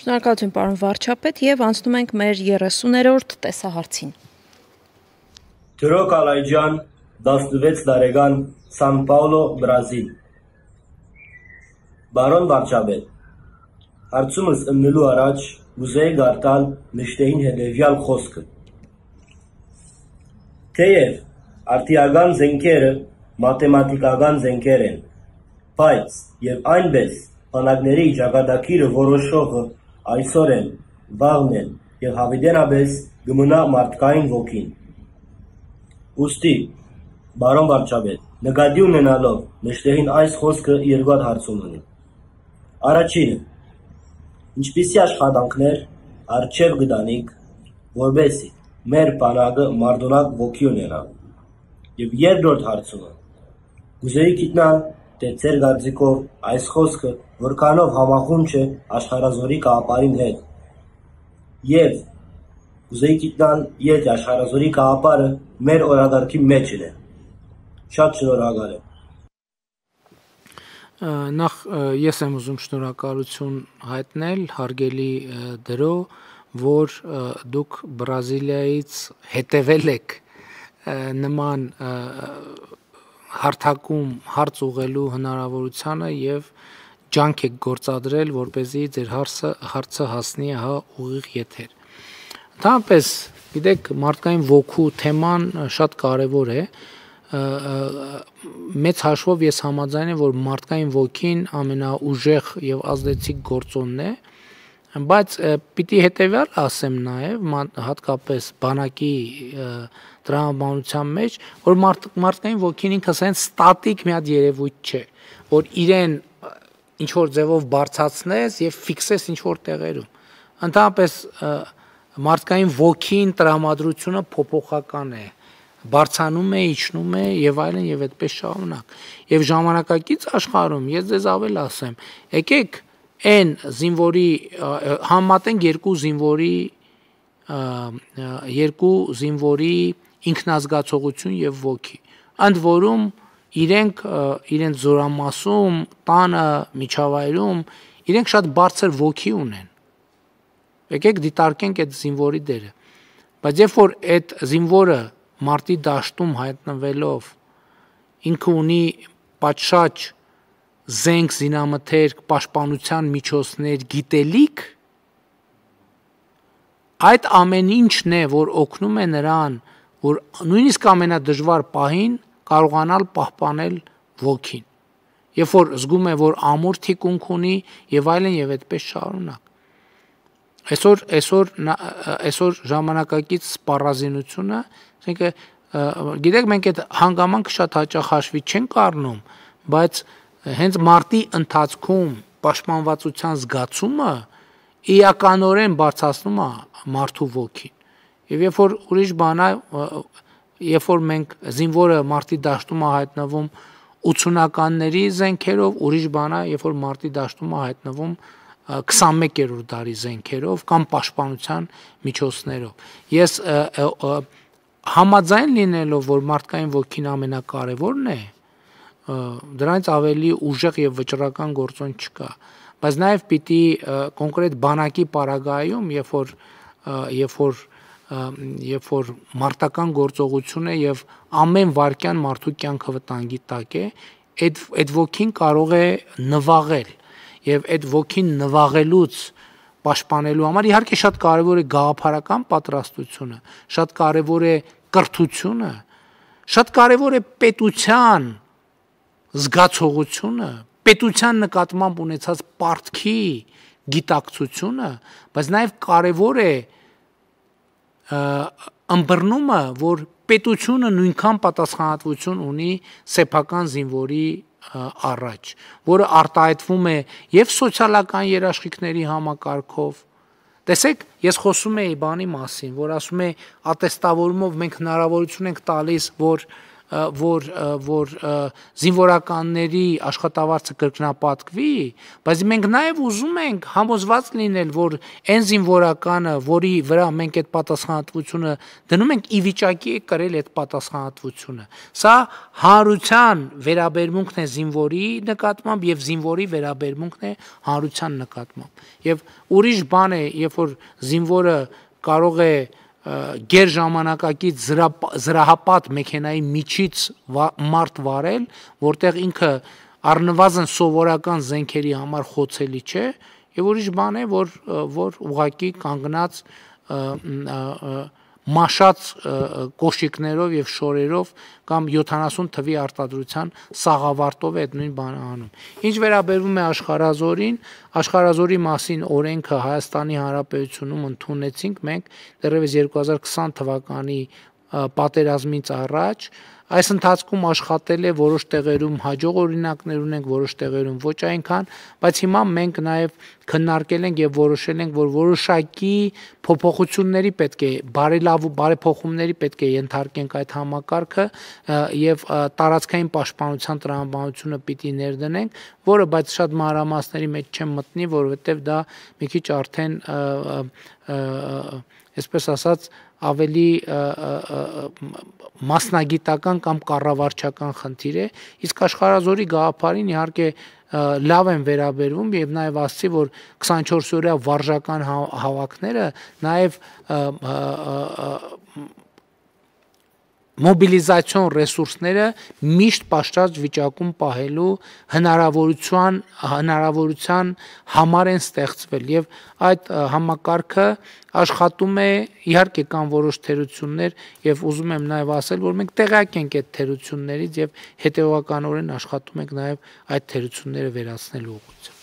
Շնորհակալություն պարոն վարչապետ եւ անցնում ենք մեր 30-րդ տեսահարցին։ Թրո Կալայջյան, 16 տարեկան, Սան Պաուլո, Բրազիլ։ Բարոն վարչապետ, հարցումս ըննելու առաջ ուզեի գարտալ նշտեին հետևյալ խոսքը։ Թեև արդիական զենքերը մաթեմատիկական զենքեր են, բայց եւ այնպես բանակների ճակատագիրը որոշողը այսօր են, վաղն են եւ հավիտենապես գմնա մարդկային ոգին։ Ուստի, բարոն վարչապետ, նկատի ունենալով նշտեին այս խոսքը երկու հարցում ունի։ Առաջինը, ինչպիսի աշխատանքներ առջև գտանիք, որպեսզի մեր բանակը մարտունակ ոգի ունենա։ Եվ երկրորդ հարցումը, կուզեի գիտնալ, թե ձեր կարծիքով այս խոսքը որքանով համախումբ է աշխարհազորի գաղափարին հետ։ Եվ կուզեի գիտնալ, եթե աշխարհազորի գաղափարը մեր օրակարգի մեջ է։ Շատ շնորհակալ եմ։ Նախ ես եմ ուզում շնորհակալություն հայտնել հարգելի դրո, որ դուք Բրազիլիայից հետևել եք նման հարթակում հարց ուղղելու հնարավորությանը եւ ջանք եք գործադրել, որպեսզի ձեր հարցը հասնի ուղիղ եթեր։ Ընդհանրապես, գիտեք, մարդկային ոգու թեման շատ կարեւոր է։ Մեծ հաշվով ես համաձայն եմ, որ մարդկային ոգին ամենաուժեղ եւ ազդեցիկ գործոնն է, բայց պիտի հետեւյալ ասեմ նաեւ հատկապես բանակի տրամաբանության մեջ, որ մարդկային ոգին ինքը ասեն ստատիկ մի հատ երևույթ չէ, որ իրեն ինչ որ ձևով բարձրացնես եւ ֆիքսես ինչ որ տեղերում։ Ընդհանրապես մարդկային ոգին տրամադրությունը փոփոխական է, բարձանում է, իջնում է եւ այլն եւ այդպես շարունակ։ Եվ ժամանակակից աշխարհում ես ձեզ ավել ասեմ, եկեք այն զինվորի համատենք երկու զինվորի ինքնազգացողություն եւ ոգի։ Ընդ որում իրենց զորամասում, տանը, միջավայրում իրենք շատ բարձր ոգի ունեն։ Եկեք դիտարկենք այդ զինվորի դերը։ Բայց երբ որ այդ զինվորը մարտի դաշտում հայտնվելով ինքը ունի պատշաճ զենք, զինամթերք, պաշտպանության միջոցներ, գիտելիք, այդ ամեն ինչն է, որ օգնում է նրան, որ նույնիսկ ամենադժվար պահին կարողանալ պահպանել ոգին։ Երբ որ զգում է, որ ամուր թիկունք ունի եւ այլն եւ այդպես շարունակ։ Այսօր ժամանակակից սպառազինությունը, ասենք գիտեք, մենք այդ հանգամանքը շատ հաճախ հաշվի չենք առնում, բայց հենց մարտի ընթացքում պաշտպանվածության զգացումը իրականորեն բարձրացնում է մարդու ոգին։ Եվ երբ որ մենք զինվորը մարտի դաշտում է հայտնվում 80-ականների զենքերով, ուրիշ բան է, երբ որ մարտի դաշտում է հայտնվում 21-րդ դարի զենքերով կամ պաշտպանության միջոցներով։ Ես համաձայն լինելով, որ մարդկային ոգին ամենակարևորն է, դրանից ավելի ուժեղ եւ վճռական գործոն չկա, բայց նաեւ պիտի կոնկրետ բանակի պարագայում, երբ որ մարտական գործողություն է եւ ամեն վայրկյան մարդու կյանքը վտանգի տակ է, այդ ոգին կարող է նվաղել եւ այդ ոգին նվաղելուց պաշտպանելու համար իհարկե շատ կարեւոր է գաղափարական պատրաստությունը, շատ կարեւոր է կրթությունը, շատ կարեւոր է պետության զգացողությունը, պետության նկատմամբ ունեցած պարտքի գիտակցությունը, բայց նաեւ կարեւոր է ըմբռնումը, որ պետությունը նույնքան պատասխանատվություն ունի սեփական զինվորի առաջ, որը արտահայտվում է եւ սոցիալական երաշխիքների համակարգով։ Տեսեք, ես խոսում եի բանի մասին, որ ասում է ատեստավորումով մենք հնարավորություն ենք տալիս, որ որ զինվորականների աշխատավարձը կրկնապատկվի, բայց մենք նաև ուզում ենք համոզված լինել, որ այն զինվորականը, որի վրա մենք այդ պատասխանատվությունը դնում ենք, ի վիճակի է կրել այդ պատասխանատվությունը։ Սա հանրության վերաբերմունքն է զինվորի նկատմամբ եւ զինվորի վերաբերմունքն է հանրության նկատմամբ։ Եվ ուրիշ բան է, երբ որ զինվորը կարող է գեր ժամանակակից զրահապատ մեքենայի միջից մարդ վարել, որտեղ ինքը առնվազն սովորական զենքերի համար խոցելի չէ, եւ ուրիշ բան է, որ ուղղակի կանգնած մաշած կոշիկներով եւ շորերով կամ 70 թվի արտադրության սաղավարտով է այդ նույն բանը անում։ Ինչ վերաբերվում է աշխարհազորին, աշխարհազորի մասին օրենքը Հայաստանի Հանրապետությունում ընդունեցինք մենք դեռևս 2020 թվականի պատերազմից առաջ, այս ընթացքում աշխատել է որոշ տեղերում հաջող օրինակներ ունենք, որոշ տեղերում ոչ այնքան, բայց հիմա մենք նաև քննարկել ենք եւ որոշել ենք, որ որոշակի փոփոխությունների պետք է բարեփոխումների պետք է ենթարկենք այդ համակարգը եւ տարածքային պաշտպանության տրամաբանությունը պիտի ներդնենք, որը բայց շատ մանրամասների մեջ չեմ մտնի, որովհետեւ դա մի քիչ արդեն այսպես ասած ավելի մասնագիտական կամ կառավարչական խնդիր է, իսկ աշխարհազորի գաղափարին իհարկե լավ են վերաբերվում եւ նաեւ ասացի, որ 24-օրյա վարժական հավաքները նաեւ մոբիլիզացիոն ռեսուրսները միշտ պատշաճ վիճակում պահելու հնարավորության համար են ստեղծվել եւ այդ համակարգը աշխատում է, իհարկե կան որոշ թերություններ եւ ուզում եմ նաեւ ասել, որ մենք տեղյակ ենք այդ թերություններից եւ հետեւականորեն աշխատում ենք նաեւ այդ թերությունները վերացնելու ուղղությամբ։